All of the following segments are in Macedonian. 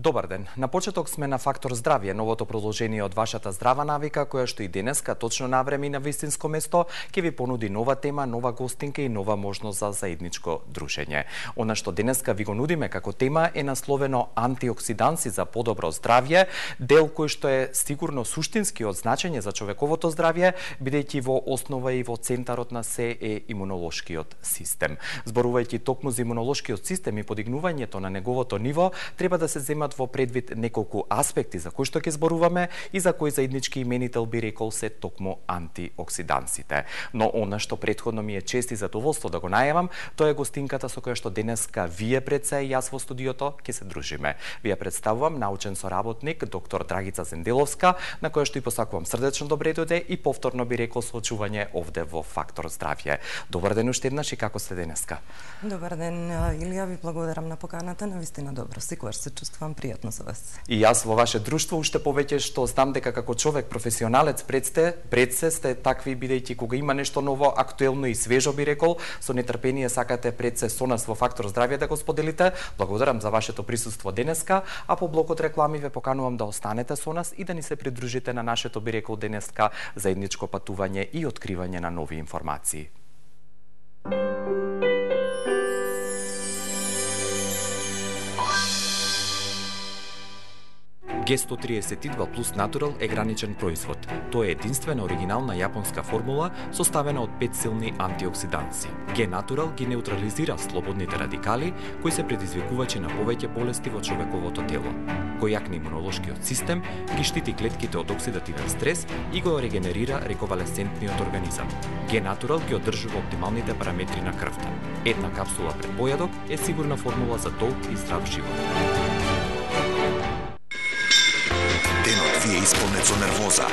Добар ден. На почеток сме на Фактор здравје, новото продолжение од вашата здрава навика, која што и денеска точно на време и на вистинско место ќе ви понуди нова тема, нова гостинка и нова можност за заедничко дружење. Она што денеска ви го нудиме како тема е насловено антиоксиданси за подобро здравје, дел кој што е сигурно суштински од значење за човековото здравје, бидејќи во основа и во центарот на се е имунолошкиот систем. Зборувајќи токму за имунолошкиот систем и подигнувањето на неговото ниво, треба да се земат во предвид неколку аспекти за кои што ќе зборуваме и за кои заеднички именител би рекол се токму антиоксидансите. Но она што претходно ми е чест и задоволство да го најавам, тоа е гостинката со која што денеска вие пред се и јас во студиото ќе се дружиме. Ви ја представувам научен соработник доктор Драгица Зенделовска, на која што и посакувам срдечно добре дојде и повторно би рекол со очување овде во Фактор здравје. Добар ден уште еднаш и како сте денеска? Добар ден, Илија, ви благодарам на поканата, навистина добро, секогаш се чувствувам пријатно со вас. И јас во ваше друштво уште повеќе што знам дека како човек професионалец пред се сте такви, бидејќи кога има нешто ново, актуелно и свежо би рекол, со нетрпение сакате пред се со нас во Фактор здравје да го споделите. Благодарам за вашето присуство денеска, а по блокот реклами ве поканувам да останете со нас и да ни се придружите на нашето би рекол денеска заедничко патување и откривање на нови информации. Г132 плюс Натурал е граничен производ. Тоа е единствена оригинална јапонска формула составена од 5 силни антиоксиданси. Г-Натурал ги неутрализира слободните радикали кои се предизвикувачи на повеќе болести во човековото тело. Кој јакне имунолошкиот систем, ги штити клетките од оксидативен стрес и го регенерира рековалесцентниот организам. Г-Натурал ги одржува оптималните параметри на крвта. Една капсула пред појадок е сигурна формула за долг и здрав живот. Денот ви е исполнет со нервоза,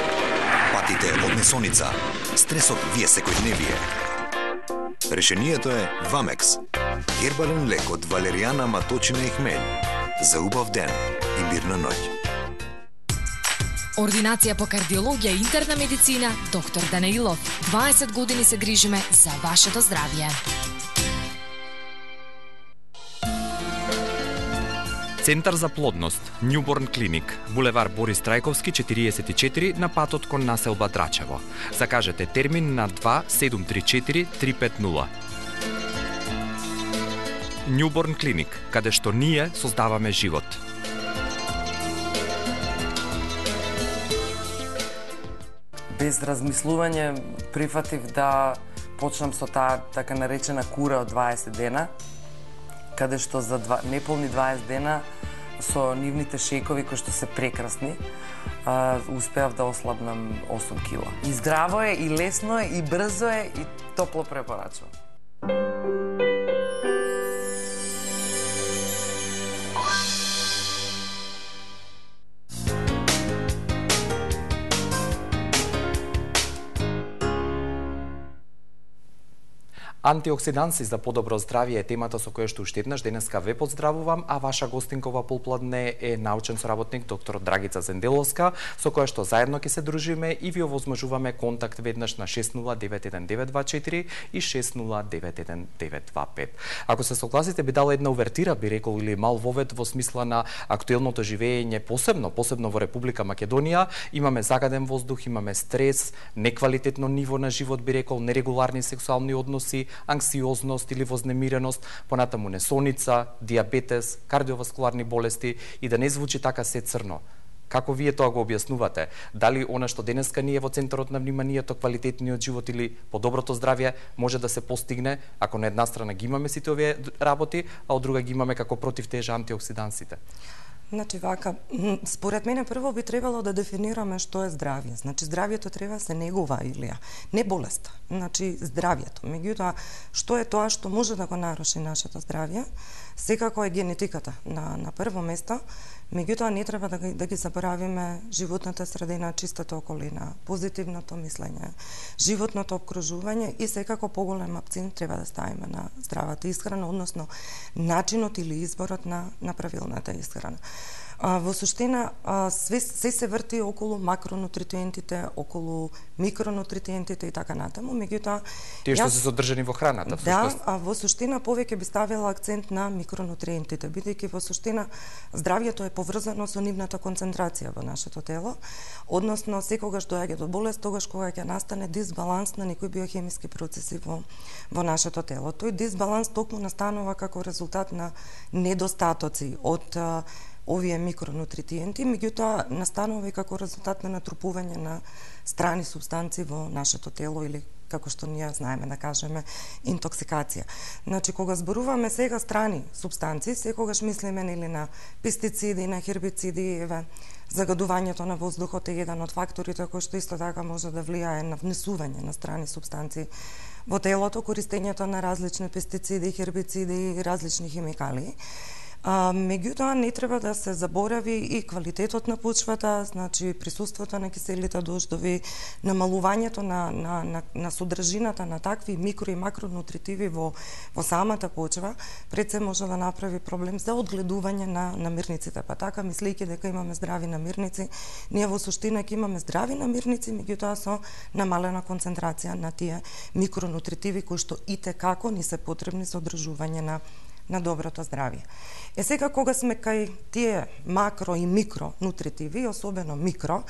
патите од несоница, стресот ви е секојдневие. Решението е Вамекс, гербален лек од валеријана, маточина и хмелј. За убав ден и мирна ноќ. Ординација по кардиологија и интерна медицина, доктор Данаилов. 20 години се грижиме за вашето здравје. Центар за плодност, Newborn Clinic, булевар Борис Трајковски 44 на патот кон населба Драчево. Закажете термин на 2734-350. Newborn Clinic, каде што ние создаваме живот. Без размислување прифатив да почнам со таа така наречена кура од 20 дена, каде што за неполни 20 дена со нивните шејкови кои што се прекрасни, успеав да ослабнам 8 кила. И здраво е, и лесно е, и брзо е, и топло препорачувам. Антиоксиданси за подобро здравје е темата со која што уште еднаш денеска ве поздравувам, а ваша гостинкова полпладне е научен соработник доктор Драгица Зенделовска, со која што заедно ќе се дружиме и ви овозможуваме контакт веднаш на 6091-924 и 6091-925. Ако се согласите, би дала една увертира, би рекол, или мал вовед во смисла на актуелното живење, посебно во Република Македонија. Имаме загаден воздух, имаме стрес, неквалитетно ниво на живот, би рекол, нерегуларни сексуални односи, анксиозност или вознемиреност, понатаму несоница, диабетес, кардиоваскуларни болести и да не звучи така се црно. Како вие тоа го објаснувате? Дали она што денеска ние во центарот на вниманието, квалитетниот живот или подоброто здравје може да се постигне ако на една страна ги имаме сите овие работи, а од друга ги имаме како против тежа антиоксидансите? Значи вака, според мене прво би требало да дефинираме што е здравје. Значи здравјето треба се негува, Илија, не болеста. Значи здравјето. Меѓутоа, што е тоа што може да го наруши нашето здравје? Секако е генетиката на прво место. Меѓутоа не треба да ги заборавиме животната средина, чистата околина, позитивното мислење, животното обкружување и секако поголем акцент треба да ставиме на здравата исхрана, односно начинот или изборот на правилната исхрана. Во суштина, се се врти околу макронутриентите, околу микронутриентите и така натаму, меѓутоа тие што се содржани во храната, всушност. Да, во суштина повеќе би ставила акцент на микронутриентите, бидејќи во суштина здравјето е поврзано со нивната концентрација во нашето тело, односно секогаш доаѓа до болест, тогаш кога ќе настане дисбаланс на некои биохемиски процеси во нашето тело. Тој дисбаланс токму настанува како резултат на недостатоци од овие микронутриенти, меѓутоа настанува и како резултат на натрупување на страни субстанции во нашето тело или како што ние знаеме да кажеме интоксикација. Значи кога зборуваме сега страни субстанции, секогаш мислиме нели на пестициди, на хербициди, загадувањето на воздухот е еден од факторите кој што исто така може да влијае на внесување на страни субстанции во телото, користењето на различни пестициди, хербициди и различни химикалии. Меѓутоа не треба да се заборави и квалитетот на почвата, значи присуството на киселите дождови, намалувањето на содржината на такви микро и макронутритиви во самата почва, пред се може да направи проблем за одгледување на намирниците. Па така, мислејќи дека имаме здрави намирници, ние во суштина ќе имаме здрави намирници, меѓутоа со намалена концентрација на тие микронутритиви кои што итекако ни се потребни за одржување на доброто здравје. Сега кога сме кај тие макро и микро нутритиви, особено микро,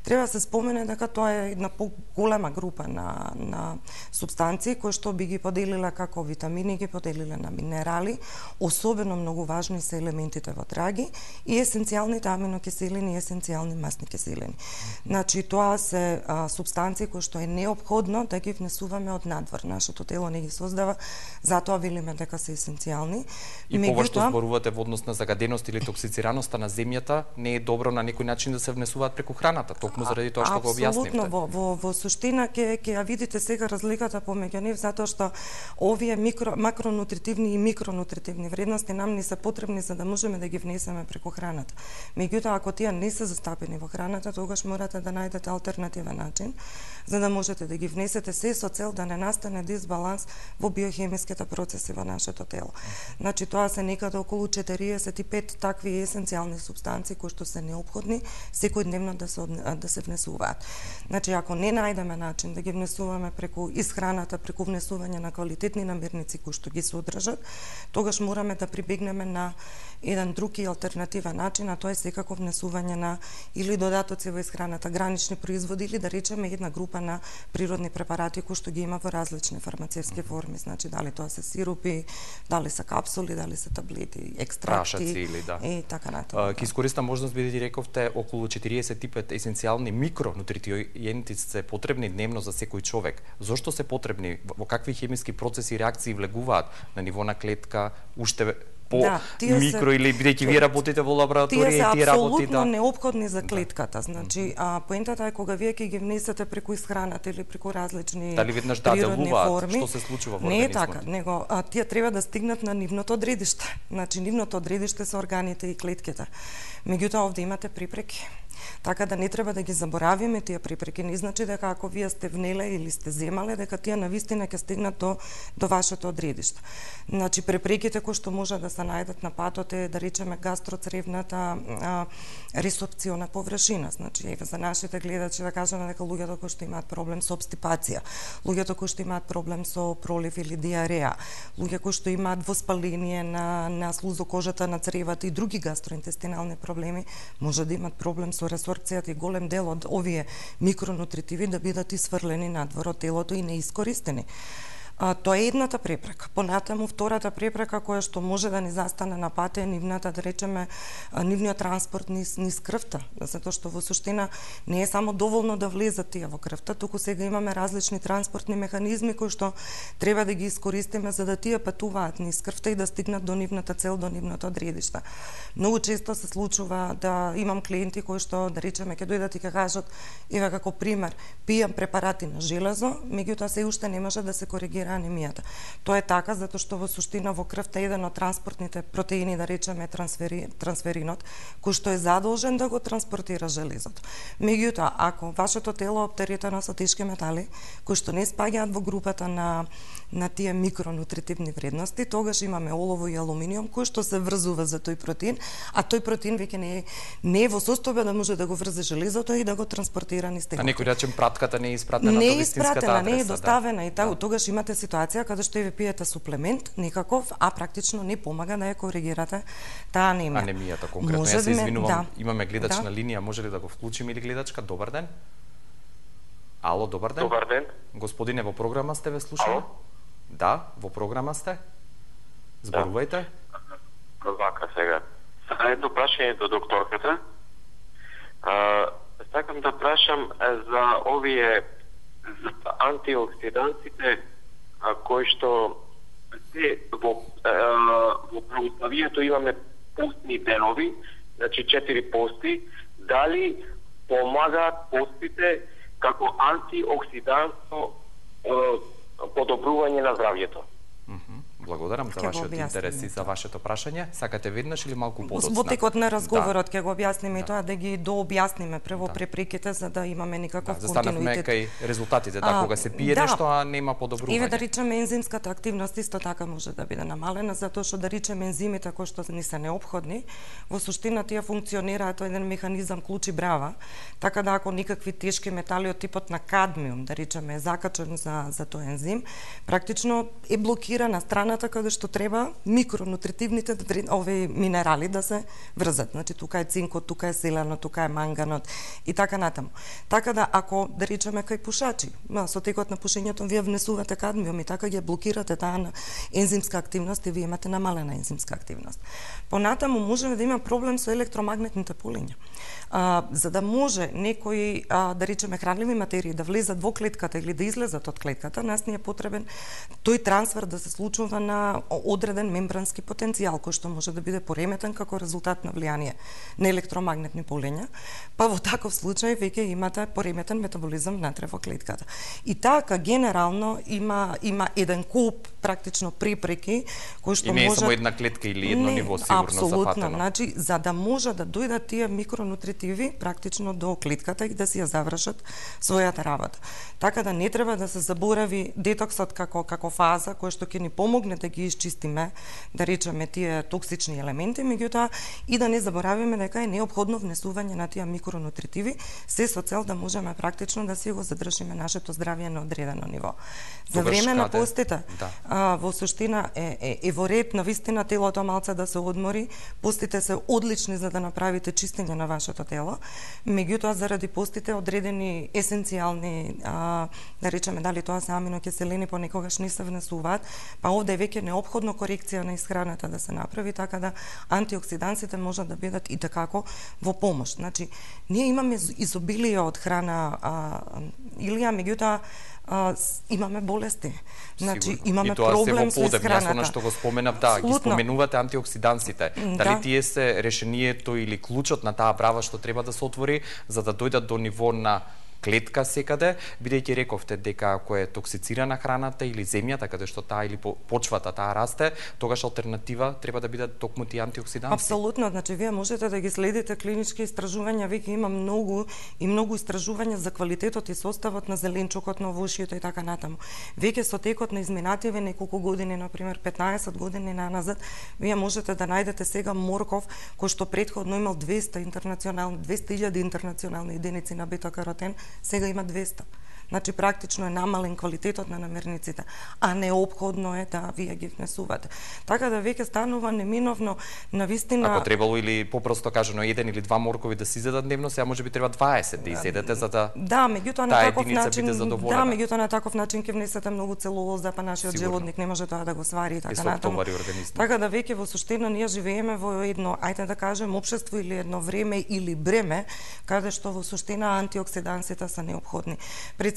треба се спомене дека тоа е една поголема група на субстанции кои што би ги поделила како витамини, ги поделила на минерали, особено многу важни се елементите во траги и есенцијалните аминокиселини и есенцијални масни киселини. Значи тоа се субстанции кои што е неопходно да ги внесуваме од надвор. Нашето тело не ги создава, затоа велиме дека се есенцијални. И пова што зборувате во однос на загаденост или токсицираноста на земјата, не е добро на некој начин да се внесуваат преку храната, токму заради тоа што го објаснивте. Апсолутно, во суштина ќе ја видите сега разликата помеѓу нив, затоа што овие макронутритивни и микронутритивни вредности нам не се потребни за да можеме да ги внесеме преку храната. Меѓутоа, ако тие не се застапени во храната, тогаш морате да најдете алтернативен начин за да можете да ги внесете се со цел да не настане дисбаланс во биохемиските процеси во нашето тело. Значи тоа се некаде околу 45 такви есенцијални субстанции кои што се неопходни секојдневно да се внесуваат. Значи ако не најдеме начин да ги внесуваме преку исхраната, преку внесување на квалитетни намирници кои што ги содржат, тогаш мораме да прибегнеме на еден друг и алтернативен начин, а тоа е секако внесување на или додатоци во исхраната, гранични производи или да речеме една група на природни препарати кои што ги има во различни фармацевски форми, значи дали тоа се сиропи, дали се капсули, дали се таблети, екстракти или и така натаму. Ќе искористам можност бидејќи рековте околу 45 есенцијални микронутриенти се потребни дневно за секој човек. Зошто се потребни? Во какви хемиски процеси и реакции влегуваат на ниво на клетка, уште микро или бидејќи вие работите во лабораторија и тие работите? Тие се апсолутно неопходни за клетката. Значи, поентата е кога вие ќе ги внесете преку исхраната или преку различни природни форми. Што се случува во организмот? Не е така, него тие треба да стигнат на нивното одредиште. Значи, нивното одредиште се органите и клетките. Меѓутоа, овде имате препреки. Така да не треба да ги заборавиме тие препреки. Не значи дека ако вие сте внеле или сте земале, дека тие навистина ќе стигнат до вашето одредиште. Значи, препреките кои што може да се најдат на патот е, да речеме, гастроцревната ресорпциона површина. Значи, за нашите гледачи да кажеме дека луѓето кои што имаат проблем со обстипација, луѓето кои што имаат проблем со пролив или диареја, луѓе кои што имаат воспаление на слузокожата на цревата и други гастроинтестинални проблеми, може да имат проблем со ресорпцијата и голем дел од овие микронутритиви да бидат исфрлени надвор од телото и неискористени. Тоа е едната препрека. Понатаму втората препрека која што може да ни застане на пат е нивната, да речеме, нивниот транспорт низ крвта, затоа што во суштина не е само доволно да влезат тие во крвта, туку сега имаме различни транспортни механизми кои што треба да ги искористиме за да тие патуваат низ крвта и да стигнат до нивната цел, до нивното одредиште. Многу често се случува да имам клиенти кои што, да речеме, ќе дојдат и ќе кажат, еве како пример, пијам препарати на железо, меѓутоа се уште не може да се коригира анемијата. Тоа е така затоа што во суштина во крвта еден од транспортните протеини, да речеме трансферинот, кој што е задолжен да го транспортира железото. Меѓутоа, ако вашето тело е оптеретено со тешки метали, кои што не спаѓаат во групата на на тие микронутритивни вредности, тогаш имаме олово и алуминиум кои што се врзува за тој протеин, а тој протеин веќе не е во состојба да може да го врзе железото и да го транспортира низ телото. А некој речем пратката не е испратена до вистинската адреса. Не е доставена и така, тогаш имате ситуација каде што ви пиете суплемент некаков, а практично не помага да ја коригирате таа анемија. Анемијата конкретно. Јас се извинувам, имаме гледач на линија, може ли да го вклучиме или гледачка? Добар ден. Ало, добар ден. Добар ден. Господине, во програма сте, ве слушаме? Ало? Да, во програма сте. Зборувајте. Вака сега. Едно прашање до докторката. Сакам да прашам за овие антиоксидантите кои што се во православието имаме постни денови, значи 4 пости, дали помагаат постите како антиоксидантно подобрување на здравјето? Благодарам за вашиот интерес и за вашето прашање. Сакате веднаш или малку подоцна? Во текот на разговорот ќе го објасниме и тоа да ги дообјасниме прво препреките за да имаме никаков континуитет. Застанавме кај резултатите, кога се пие нешто, а нема подобрување. Еве да речеме ензимската активност исто така може да биде намалена, затоа што да речеме ензимите кои што ни се неопходни, во суштина тие функционираат тоа еден механизам клучи брава, така да ако никакви тешки метали од типот на кадмиум, да речеме, е закачен за тој ензим, практично е блокирана страната каде што треба микронутритивните овие минерали да се врзат. Значи тука е цинкот, тука е селенот, тука е манганот и така натаму. Така да ако да речеме кај пушачи, со текот на пушењето вие внесувате кадмиум и така ги блокирате таа ензимска активност и вие имате намалена ензимска активност. Понатаму може да има проблем со електромагнетните полиња. За да може некои да речеме хранливи материи да влезат во клетката или да излезат од клетката, нас ни е потребен тој трансфер да се случува на одреден мембрански потенцијал кој што може да биде пореметен како резултат на влијание на електромагнетни полиња, па во таков случај веќе имате пореметен метаболизам внатре во клетката. И така генерално има еден куп практично препреки кои што може... И не е само една клетка или едно ниво сигурно зафатено. Апсолутно, значи за да може да дојдат тие микронутритиви практично до клетката и да си ја завршат својата работа. Така да не треба да се заборави детоксот како фаза која што ќе ни помогне да ги исчистиме, да речеме тие токсични елементи, меѓутоа и да не заборавиме дека е неопходно внесување на тие микронутритиви, се со цел да можеме практично да си го задржиме нашето здравје на одредено ниво. За време на постите, во суштина е во ред на вистина телото малце да се одмори, постите се одлични за да направите чистење на вашето тело, меѓутоа заради постите одредени есенцијални, да речеме дали тоа се аминокиселини понекогаш не се внесуваат, па овде е веќе неопходно корекција на исхраната да се направи, така да антиоксидансите можат да бидат и такако во помош. Значи, ние имаме изобилие од храна, Илија, меѓутоа имаме болести. Значи имаме проблем со исхраната. Јас она што го споменав, ги споменувате антиоксидансите. Дали тие се решението или клучот на таа брава што треба да се отвори за да дојдат до ниво на клетка секаде, бидејќи рековте дека ако е токсицирана храната или земјата каде што таа или почвата таа расте, тогаш алтернатива треба да бидат токму тие антиоксиданси. Апсолутно, значи вие можете да ги следите клинички истражувања, веќе има многу истражувања за квалитетот и составот на зеленчукот, на овошјето и така натаму. Веќе со текот на изминативе неколку години, например 15 години наназад, вие можете да најдете сега морков кој што претходно имал 200.000 интернационални единици на бета-каротен, сега има 200. Значи практично е намален квалитетот на намирниците, а неопходно е да вие ги внесувате. Така да веќе станува неминовно на вистина. Ако требало или попросто кажано 1 или 2 моркови да се изедат дневно, сега можеби треба 20 да изедете за да меѓутоа на таков начин меѓутоа на таков начин ќе внесете многу целулоза, па нашиот желудник не може тоа да го свари и така натаму. Така да веќе во суштина ние живееме во едно, ајде да кажем, општество или едно време или бреме каде што во суштина антиоксидансите се неопходни.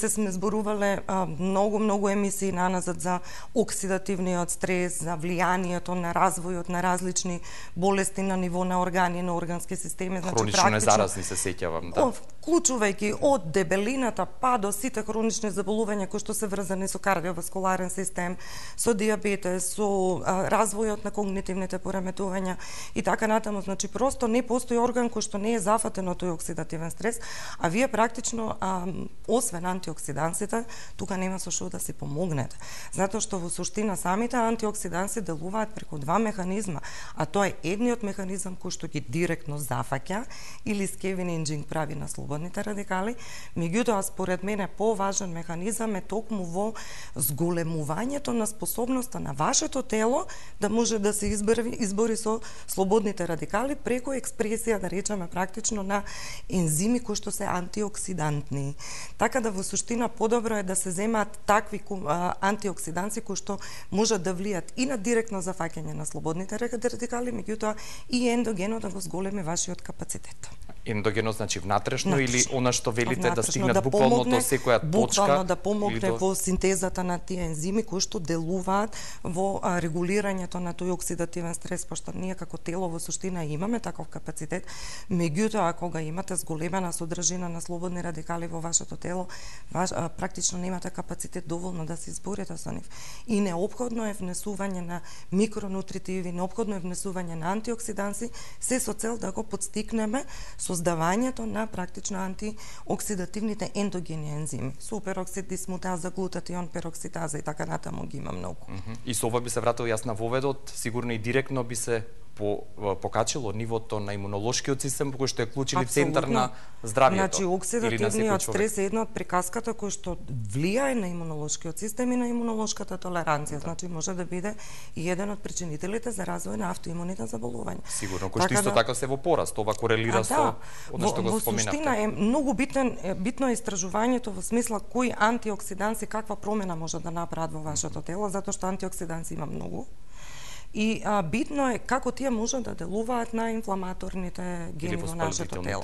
Сме зборувале многу емисии наназад за оксидативниот стрес, за влијанието на развојот на различни болести на ниво на органи, на органски системи, значи хронично незаразни се сеќавам, вклучувајќи од дебелината па до сите хронични заболувања кои што се врзани со кардиоваскуларен систем, со дијабетес, со развојот на когнитивните пореметувања и така натаму. Значи просто не постои орган кој што не е зафатен од тој оксидативен стрес, а вие практично освен антиоксидансите, тука нема со што да си помогнете. Затоа што во суштина самите антиоксиданси делуваат преку два механизма, а тоа е едниот механизам кој што ги директно зафаќа или скевенинџинг прави на слободните радикали, меѓутоа според мене поважен механизам е токму во зголемувањето на способноста на вашето тело да може да се избори со слободните радикали преку експресија, да речеме практично, на ензими кои што се антиоксидантни. Така да во суштина подобро е да се земаат такви антиоксиданси кои што можат да влијат и на директно зафаќање на слободните радикали, меѓутоа и ендогено да го зголеми вашиот капацитет. Ендогено значи внатрешно или она што велите да стигнат да буквално до секоја точка? Буквално да помогне во синтезата на тие ензими кои што делуваат во регулирањето на тој оксидативен стрес, пошто ние како тело во суштина имаме таков капацитет, меѓутоа кога имате зголемена содржина на слободни радикали во вашето тело, практично немате капацитет доволно да се изборите со нив. И неопходно е внесување на микронутритиви, неопходно е внесување на антиоксиданси, се со цел да го подстикнеме создавањето на практично антиоксидативните ендогени ензими. Супероксид, дисмутаза, глутатион, перокситаза и така натаму ги има многу. И со ова би се вратил јас на воведот, сигурно и директно би се покачило нивото на имунолошкиот систем, кој што е клучен центар на здравието. Значи, оксидативниот стрес е една од приказката кој што влијае на имунолошкиот систем и на имунолошката толеранција. Значи, може да биде и еден од причинителите за развој на автоимуните заболувања. Сигурно, кој што исто така се во пораст, ова корелира со она што го споменавте. Во суштина е многу битно истражувањето во смисла кои антиоксиданси каква промена може да направат во вашето тело, затоа што антиоксиданси има многу. И битно е како тие можат да делуваат на инфламаторните гени во нашето тело.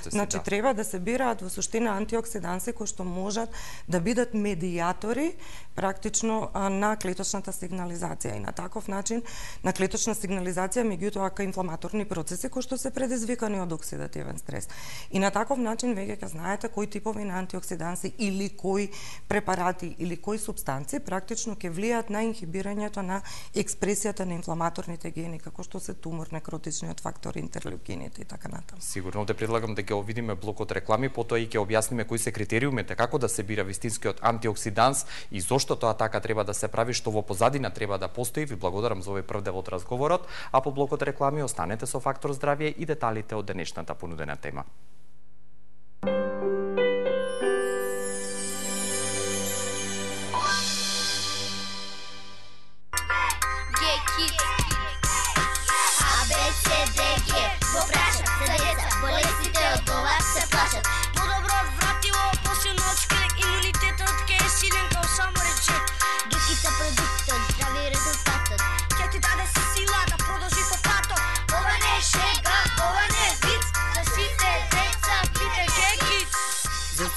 Значи, треба да се бираат во суштина антиоксиданси кои што можат да бидат медијатори практично на клеточната сигнализација и на таков начин на клеточна сигнализација меѓутоа кај инфламаторни процеси кои што се предизвикани од оксидативен стрес. И на таков начин веќе ќе знаете кои типови на антиоксиданси или кои препарати или кои супстанци практично ќе влијаат на инхибирањето на експресијата на инфламаторните гени, како што се тумор, некротичниот фактор, интерлеукините и така натаму. Сигурно те предлагам да ќе видиме блокот реклами, потоа и ќе објасниме кои се критериумите, како да се бира вистинскиот антиоксиданс и зошто тоа така треба да се прави, што во позадина треба да постои. Ви благодарам за овој прв дел од разговорот, а по блокот реклами останете со Фактор здравје и деталите од денешната понудена тема.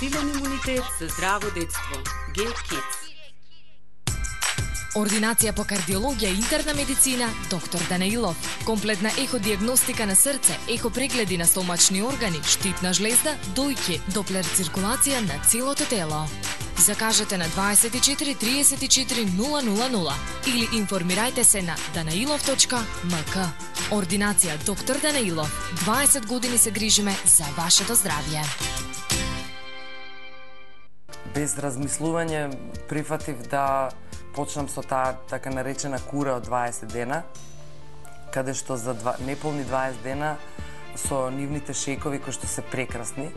Силен имунитет за здраво детство. G-Kids. Ординација по кардиологија и интерна медицина, доктор Данаилов. Комплетна еходиагностика на срце, ехопрегледи на стомачни органи, штитна жлезда, дојки, доплер циркулација на целото тело. Закажете на 24 34 000 или информирајте се на danailov.mk. Ординација доктор Данаилов. 20 години се грижиме за вашето здравје. Без размислување прифатив да почнам со таа така наречена кура од 20 дена, каде што за неполни 20 дена со нивните шејкови кои што се прекрасни,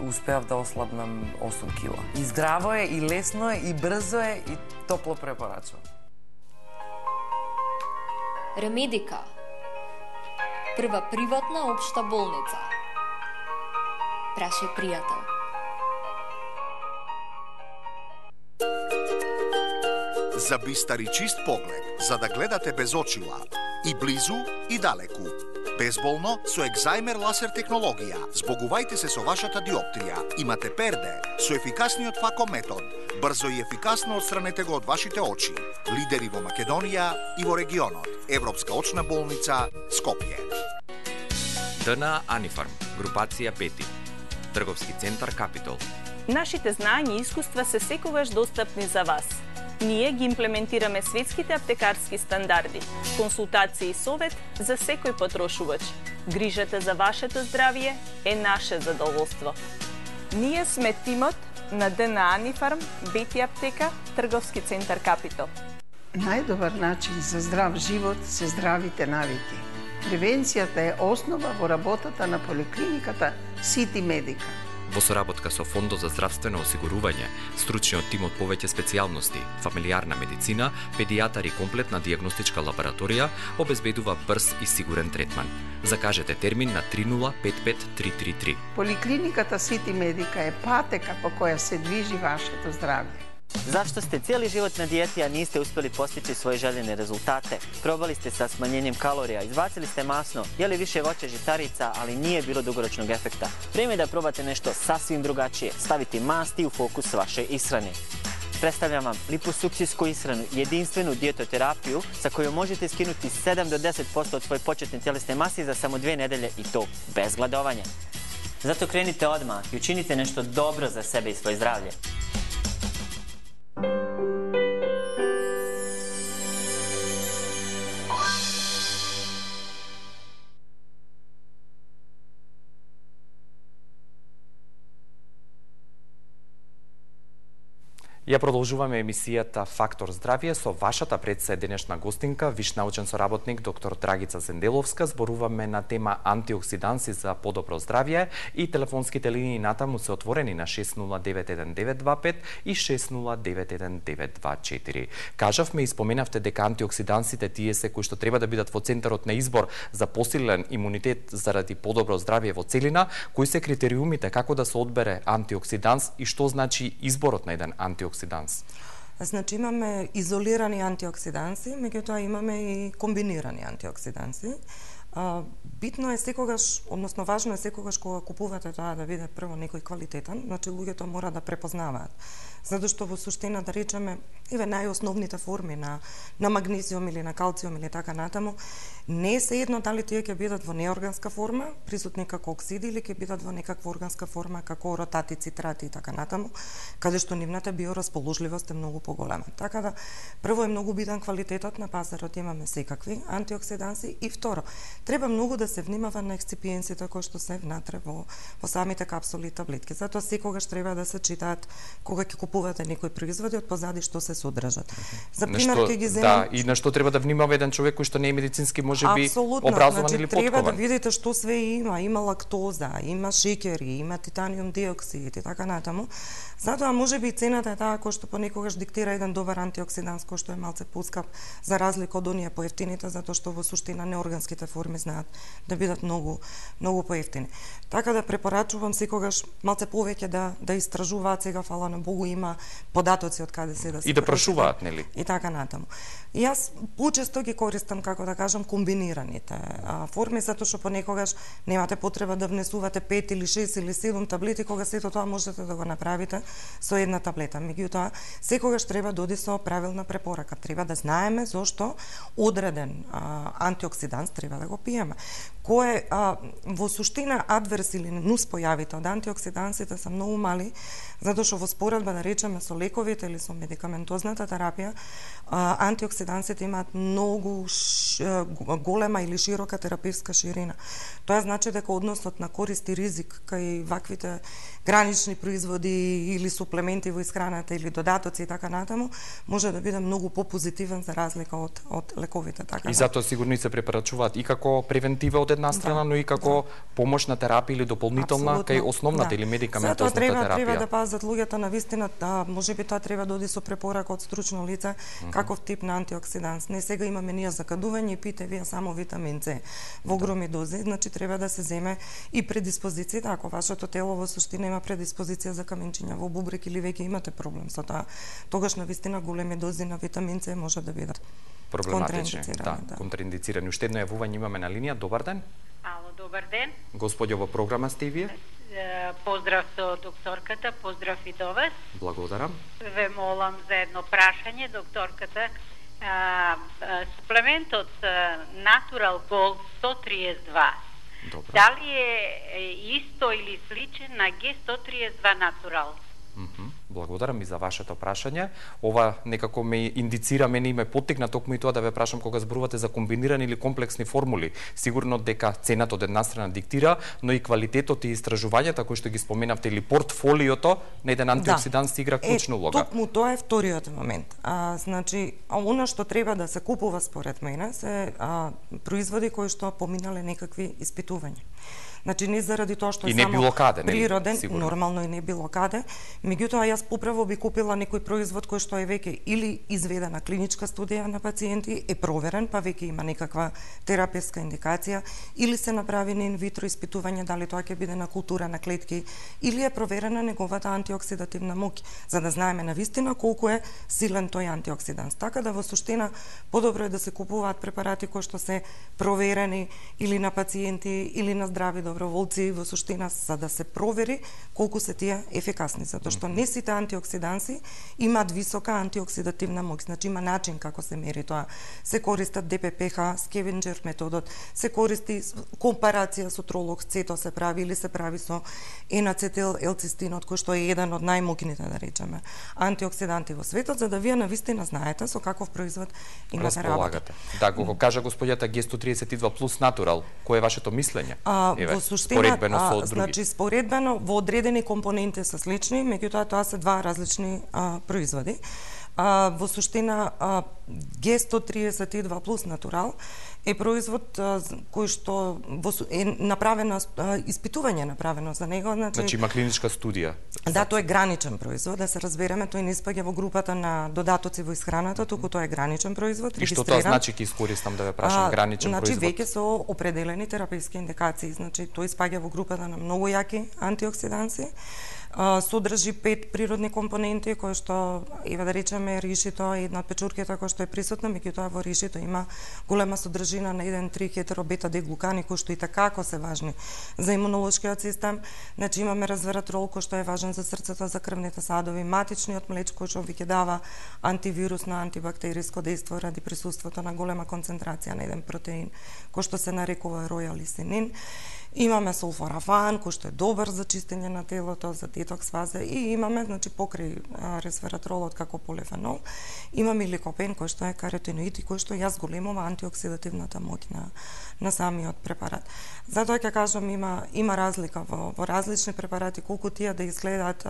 успеав да ослабнам 8 кила. И здраво е, и лесно е, и брзо е, и топло препорачувам. Ремедика. Прва приватна општа болница. Прашај пријател. За бистар и чист поглед, за да гледате без очила, и близу, и далеку. Безболно со екзајмер ласер технологија. Збогувајте се со вашата диоптрија. Имате перде со ефикасниот фако метод. Брзо и ефикасно отстранете го од вашите очи. Лидери во Македонија и во регионот. Европска очна болница Скопје. ДНА Анифарм, групација Пети. Трговски центар Капитол. Нашите знања и искуства се секогаш достапни за вас. Ние ги имплементираме светските аптекарски стандарди, консултации и совет за секој потрошувач. Грижата за вашето здравје е наше задоволство. Ние сме тимот на ДНА Анифарм, Бети аптека, Трговски центар Капитол. Најдобар начин за здрав живот се здравите навики. Превенцијата е основа во работата на поликлиниката Сити Медика. Во соработка со Фондот за здравствено осигурување, стручниот тим од повеќе специјалности, фамилиарна медицина, педијатар и комплетна дијагностичка лабораторија обезбедува брз и сигурен третман. Закажете термин на 3055333. Поликлиниката Сити Медика е патека по која се движи вашето здравје. Зашто сте цели живот на диети, а нисте успели постичи своји желени резултате? Пробали сте sa smanjenjem kalorija, izbacili ste masno, jeli više voća žitarica, ali nije bilo dugoročnog efekta. Vreme je da probate nešto sasvim drugačije, staviti masti u fokus vaše ishrane. Predstavljam vam liposuksijsku ishranu, jedinstvenu dijetoterapiju sa kojom možete skinuti 7 do 10% od svoje početne tjelesne mase za samo 2 nedelje i to bez gladovanja. Zato krenite odmah i učinite nešto dobro za sebe i svoje zdravlje. Ја продолжуваме емисијата Фактор здравје со вашата предсе денешна гостинка, виш научен соработник доктор Драгица Зенделовска. Зборуваме на тема антиоксиданси за подобро здравје и телефонските линии натаму се отворени на 6091-925 и 6091-924. Кажавме и споменавте дека антиоксидансите тие се кои што треба да бидат во центарот на избор за посилен имунитет заради подобро здравје во целина. Кои се критериумите како да се одбере антиоксиданс и што значи изборот на еден антиоксиданс? Значи имаме изолирани антиоксиданси, меѓутоа имаме и комбинирани антиоксиданси. Битно е секогаш, односно важно е секогаш кога купувате тоа да биде прво некој квалитетен, значи луѓето мора да препознаваат. Затоа што во суштина да речеме најосновните форми на магнезиум или на калциум или така натаму, не е сеедно дали тие ќе бидат во неорганска форма, присутни како оксиди или ќе бидат во некаква органска форма како ротати, цитрати и така натаму, каде што нивната биорасположливост е многу поголема. Така да прво е многу битен квалитетот на пазарот, имаме секакви антиоксиданси и второ, треба многу да се внимава на ексципиенсите кои што се внатре во самите капсули и таблетки. Затоа секогаш треба да се читаат кога ќе купувате некои производи од позади што се содржат. За пример ќе ги земам... Да, и на што треба да внимава еден човек кој што не е медицински можеби образован или подкован. Треба да видите што све има, има лактоза, има шеќери, има титаниум диоксид и така натаму. Затоа можеби цената е таа кој што понекогаш диктира еден добар антиоксиданс кој што е малце поскап за разлика од оние поевтините, затоа што во суштина неорганските форми знаат да бидат многу поевтини. Така да препорачувам секогаш малце повеќе да истражуваат, сега фала на Богу има податоци од каде се да се и да прашуваат, нели? И така натаму. И јас почесто ги користам, како да кажам, комбинираните форми, затоа што понекогаш немате потреба да внесувате 5 или 6 или 7 таблети, кога сето тоа можете да го направите со една таблета. Меѓутоа, секогаш треба да оди со правилна препорака. Треба да знаеме зошто одреден антиоксиданс треба да го пиеме. Кој во суштина адверс или нуспојавите од антиоксидансите се многу мали, затоа што во споредба да речеме со лековите или со медикаментозната терапија, антиоксидансите имаат многу голема или широка терапевска ширина. Тоа значи дека односот на корист и ризик кај ваквите гранични производи или суплементи во исхраната или додатоци и така натаму може да биде многу попозитивен за разлика од лековите. Така. И затоа сигурно се препорачуваат и како превентива од една страна, но и како помошна терапија или дополнителна кај основната или медикаментозната терапија. Треба да пазат луѓето на вистина, можеби тоа треба да оди со препорака од стручно лице, каков тип на антиоксиданс. Не сега имаме ние закадување и пите вие само витамин С во огромни дози, значи треба да се земе и предиспозиција, ако вашето тело во суштина има предиспозиција за каменчиња во бубрек или веќе имате проблем со тоа, тогаш на вистина големи дози на витамин С може да бидат проблематични, контраиндицирани. Уште едно јавување имаме на линија. Добар ден. Ало, добар ден. Господјо, во програма сте и вие? Поздрав со докторката, поздрав и до вас. Благодарам. Ве молам за едно прашање, докторката. Суплементот Natural Gold 132 Добро. Дали е исто или сличен на G132 Natural? Благодарам и за вашето прашање. Ова некако ме индицира, мене и ме поттикна токму и тоа да ве прашам кога зборувате за комбинирани или комплексни формули. Сигурно дека цената од една страна диктира, но и квалитетот и истражувањата кои што ги споменавте или портфолиото на еден антиоксидант си игра клучна улога. Токму тоа е вториот момент. Значи, она што треба да се купува според мене се производи кои што поминале некакви испитувања. Значи не заради тоа што е само природен, нормално и не било каде, меѓутоа јас поправо би купила некој производ кој што е веќе или изведена клиничка студија на пациенти, е проверен, па веќе има некаква терапевска индикација, или се направи инвитро испитување дали тоа ќе биде на култура на клетки, или е проверена неговата антиоксидативна моќ, за да знаеме навистина колку е силен тој антиоксидант. Така да во суштина подобро е да се купуваат препарати кои што се проверени или на пациенти или на здрави доброволци во суштина, за да се провери колку се тие ефикасни, затоа што не сите антиоксиданси имаат висока антиоксидативна моќ. Значи има начин како се мери тоа. Се користат ДППХ, скевенџер методот, се користи компарација со тролоксцето се прави или се прави со енацетил елцистинот, кој што е еден од најмоќните, да речеме, антиоксиданти во светот, за да вие навистина знаете со каков производ имате работа. Да, го кажа господјата G132 плюс Natural, кое е вашето мислење? Во суштина, значи споредбено во одредени компоненти се слични, меѓутоа тоа се два различни производи. Во суштина G132 плюс Natural е производ кој што е направено испитување направено за него, значи има клиничка студија. Да, тој е граничен производ, да се разбереме, тој не спаѓа во групата на додатоци во исхраната, туку тоа е граничен производ, регистриран. И што тоа значи, ќе искористам да ве прашам, граничен производ? Значи веќе со определени терапевски индикации, значи тој спаѓа во групата на многу јаки антиоксиданси. Содржи 5 природни компоненти кои што, еве да речеме, ришито е една од печурките која што е присутна, меѓутоа во ришито има голема содржина на 1,3 хетеробета-деглукани кои што и такако се важни за имунолошкиот систем. Значи имаме резвератрол кој што е важен за срцето, за крвните садови, матичниот млеч кој што веќе дава антивирусно, антибактериско дејство ради присуството на голема концентрација на еден протеин кој што се нарекува ројалисинин. Имаме сулфорафан, кој што е добар за чистење на телото, за детокс фаза, и имаме, значи, покрај ресвератролот како полифенол, имаме ликопен, кој што е каротиноид и кој што ја зголемува антиоксидативната моќ на самиот препарат. Затоа ќе кажам, има разлика во различни препарати, колку тие да изгледаат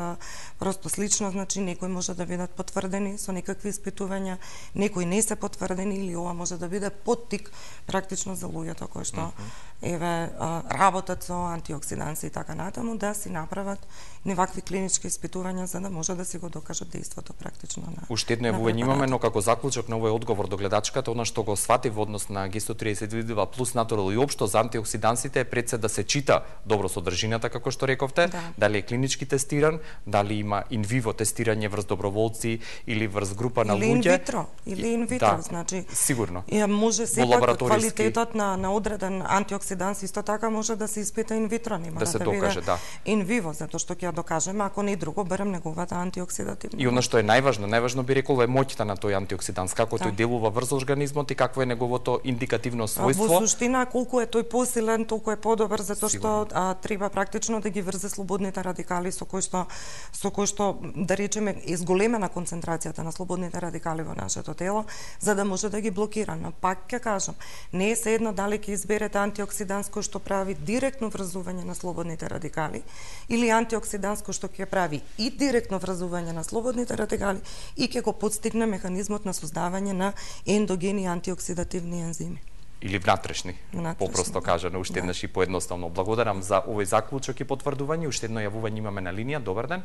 просто слично, значи некои може да бидат потврдени со некакви испитувања, некои не се потврдени, или ова може да биде поттик практично за луѓето кои што работат со антиоксиданси и така натаму, да си направат невакви клинички испитувања за да може да си го докажат дејството практично на. Уште едно јавување имаме, но како заклучок на овој одговор до гледачката, она што го свати во однос на G132 плюс Natural и општо за антиоксидансите е пред се да се чита добро содржината, како што рековте, дали е клинички тестиран, дали има инвиво тестирање врз доброволци или врз група на луѓе. Или инвитро, значи. Сигурно. Може сепак квалитетот на одреден антиоксиданс исто така може да се испита инвитро, нема да се докаже, да. Инвиво, затоа што ќе ја докажеме, ако не друго, барем неговата антиоксидативна. И она што е најважно би рекол е моќта на тој антиоксиданс, како тој делува врз организмот и какво е неговото индикативно својство. Во суштина, колку е тој посилен, толку е подобар, затоа што треба практично да ги врзе слободните радикали со кои што да речеме е зголемена концентрацијата на слободните радикали во нашето тело, за да може да ги блокира. Но пак ќе кажам, не е седно дали ќе изберете антиоксиданс кој што прави директно врзување на слободните радикали или антиоксиданс кој што ќе прави и директно врзување на слободните радикали и ќе го подстигне механизмот на создавање на ендогени антиоксидативни ензими. Или внатрешни, попросто кажано, уште еднаш и поедноставно. Благодарам за овој заклучок и потврдување. Уште едно јавување имаме на линија. Добар ден.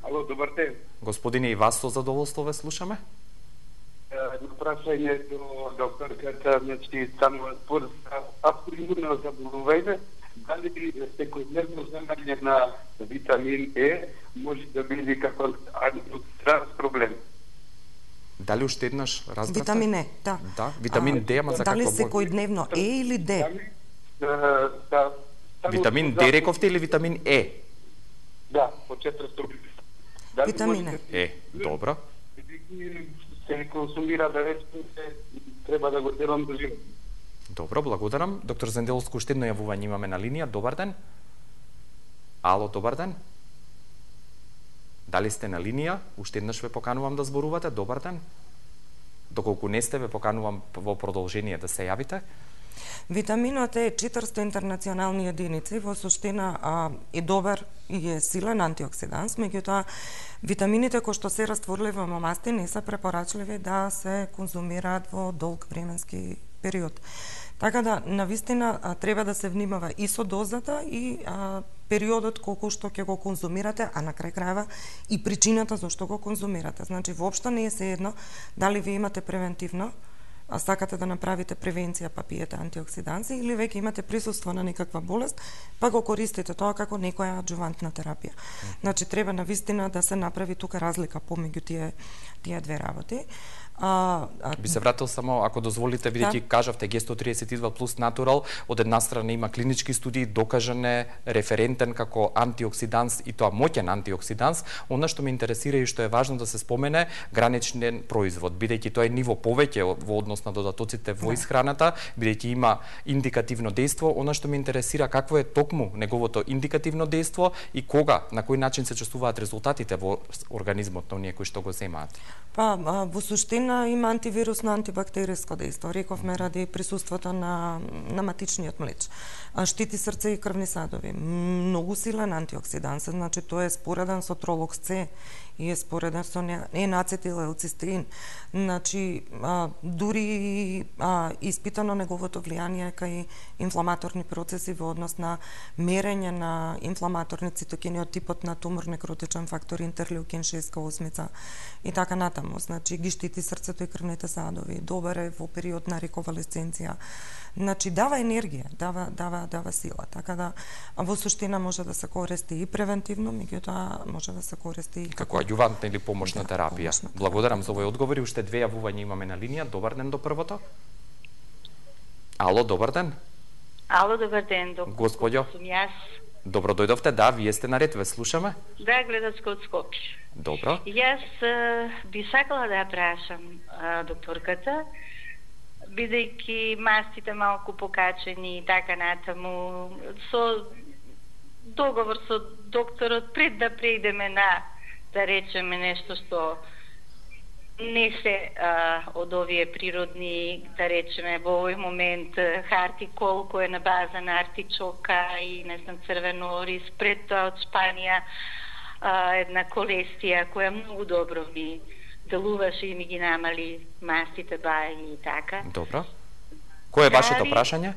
Ало, добар ден. Господине, и вас со задоволство ве слушаме. Едно прашање до докторката, значи, само според автоимуно заболување, дали секојдневно земање на витамин Е може да биде како проблем? Дали уште еднаш разбрате? Витамин Е, да. Да, витамин Д, ама за какво? Дали секојдневно Е или Д? Витамин Д рековте или витамин Е? Да, по 400. Витамин Е, добро. Се консумира да речеме, треба да го делам до живот. Добро, благодарам. Доктор Zendelovski, уште едно јавување имаме на линија. Добар ден. Ало, добар ден. Дали сте на линија? Уште еднаш ве поканувам да зборувате. Добар ден. Доколку не сте, ве поканувам во продолжение да се јавите. Витаминот е 400 интернационални единици, во суштина е добар и е силен антиоксиданс, меѓутоа витамините кои што се растворливи во масти не се препорачливи да се конзумираат во долг временски период. Така да, навистина, треба да се внимава и со дозата и периодот колку што ќе го конзумирате, а на крај крајва и причината зашто го конзумирате. Значи, воопшто не е сеедно дали ви имате превентивно, а сакате да направите превенција па пиете антиоксиданси, или веќе имате присуство на некаква болест, па го користите тоа како некоја аджувантна терапија. Значи, треба навистина да се направи тука разлика помеѓу тие две работи. Би се вратил само, ако дозволите, бидејќи кажавте G132 плюс натурал, од една страна има клинички студии, докажан е, референтен како антиоксиданс и тоа моќен антиоксиданс. Она што ме интересира и што е важно да се спомене, граничен производ, бидејќи тоа е ниво повеќе во однос на додатоците во исхраната, бидејќи има индикативно дејство. Она што ме интересира, какво е токму неговото индикативно дејство и кога, на кој начин се чувствуваат резултатите во организмот на оние кои што го земаат? Па, во суштина има антивирусно, антибактериско дејство. Рековме ради присуството на матичниот млеч. Штити срце и крвни садови. Многу силен антиоксиданс, значи тоа е спореден со тролокс С и е спореден со енацетилелцистеин. Значи, дури испитано неговото влијание кај инфламаторни процеси во однос на мерење на инфламаторни цитокини од типот на тумор, некротичен фактор, интерлеукин 6-8 и така натаму. Значи, ги штити срцето и крвните садови. Добар е во период на рековалесценција. Значи, дава енергија, дава сила. Така да, во суштина може да се користи и превентивно, меѓутоа може да се користи и како аѓувантна или помошна терапија. Благодарам за овој одговор и уште две јавувања имаме на линија. Добар ден до првото. Ало, добар ден. Ало, добар ден, Господјо. Сум јас. Добро дојдовте, да, вие сте наред, ве слушаме. Да, гледачка од Скопје. Добро. Јас би сакала да ја прашам докторката, бидејќи мастите малку покачени и така натаму, со договор со докторот пред да преидеме на, да речеме, нешто што не се од овие природни, да речеме, во овој момент хартикол кој е на база на артичока и не знам црвено ориз, пред тоа од Шпанија една колестија која многу добро ми делуваше и ми ги намали мастите баји и така. Добро. Кој е вашето прашање?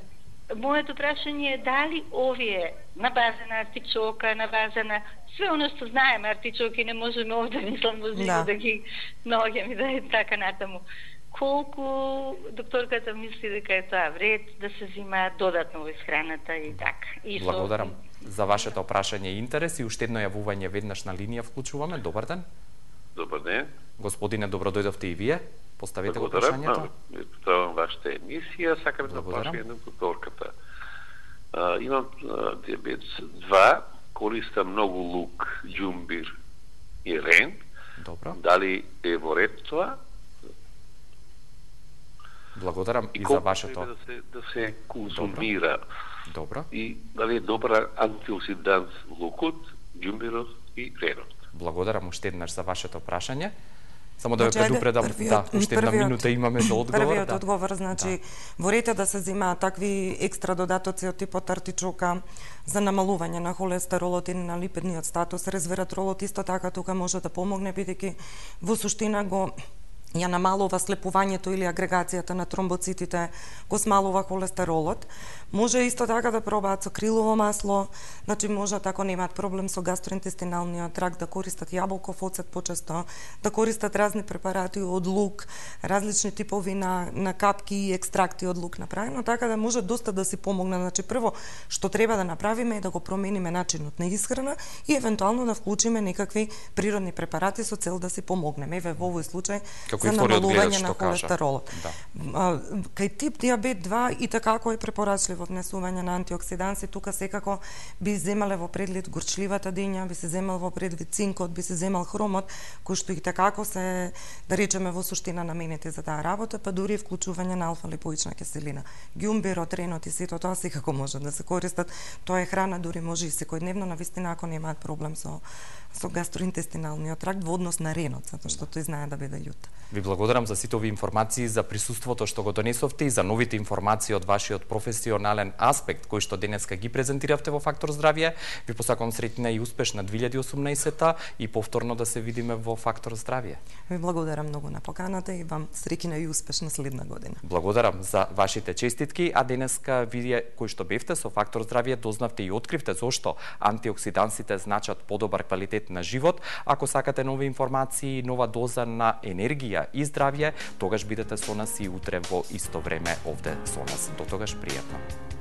Моето прашање е дали овие на база на артичока, на база на све оно што знаеме, артичоки не можеме овде, мислам, да ги наоѓаме да е така натаму. Колку докторката мисли дека е тоа вред да се зима додатно во исхраната и така. Благодарам за вашето прашање и интерес и уште едно јавување веднаш на линија вклучуваме. Добар ден. Добар ден. Господине, добро дојдовте и вие. Поставете го прашањето. Благодарам вашата емисија. Сакам да прашање на докторката. Имам диабет 2, користам многу лук, џумбир и рен. Добро. Дали е во ред тоа? Благодарам и за вашето. Да се консумира. Добро. И дали е добра антиоксиданс лукот, џумбирот и ренот. Благодарам уште еднаш за вашето прашање. Само да ве предупредам, уште една минута имаме за одговор. Првиот одговор, значи, во ред да се земаат такви екстра додатоци од типот артичока за намалување на холестеролот и на липидниот статус. Резвератролот исто така тука може да помогне, бидејќи во суштина го ја намалува слепувањето или агрегацијата на тромбоцитите, го смалува холестеролот. Може исто така да пробаат со крилово масло, значи може, ако немаат проблем со гастроинтестиналниот тракт, да користат јаболков оцет почесто, да користат разни препарати од лук, различни типови на капки и екстракти од лук направено, така да може доста да си помогне. Значи, прво што треба да направиме е да го промениме начинот на исхрана и евентуално да вклучиме некакви природни препарати со цел да си помогнеме. Еве во овој случај како и вториот гледач што кажа. Да. Кај тип диабет 2 и такако е препорачливо внесување на антиоксиданси, тука секако би земале во преглед горчливата дења, би се земал во преглед цинкот, би се земал хромот, кои што и такако се, да речеме, во суштина наменети за таа работа, па дури вклучување на алфа-липоична киселина. Ѓумберот, ренот и сето тоа секако може да се користат. Тоа е храна, дури може и секојдневно, навистина ако немаат проблем со гастроинтестиналниот тракт во однос на ренот, затоа што тој знае да биде љут. Ви благодарам за сите овие информации, за присуството што го донесовте и за новите информации од вашиот професионален аспект кој што денеска ги презентиравте во Фактор здравје. Ви посакувам среќна и успешна 2018 и повторно да се видиме во Фактор здравје. Ви благодарам многу на поканата и вам среќна и успешна следна година. Благодарам за вашите честитки, а денеска вие кои што бевте со Фактор здравје дознавте и откривте зошто антиоксидансите значат подобар квалитет на живот. Ако сакате нови информации, нова доза на енергија и здравје, тогаш бидете со нас и утре во исто време овде со нас. До тогаш пријатно.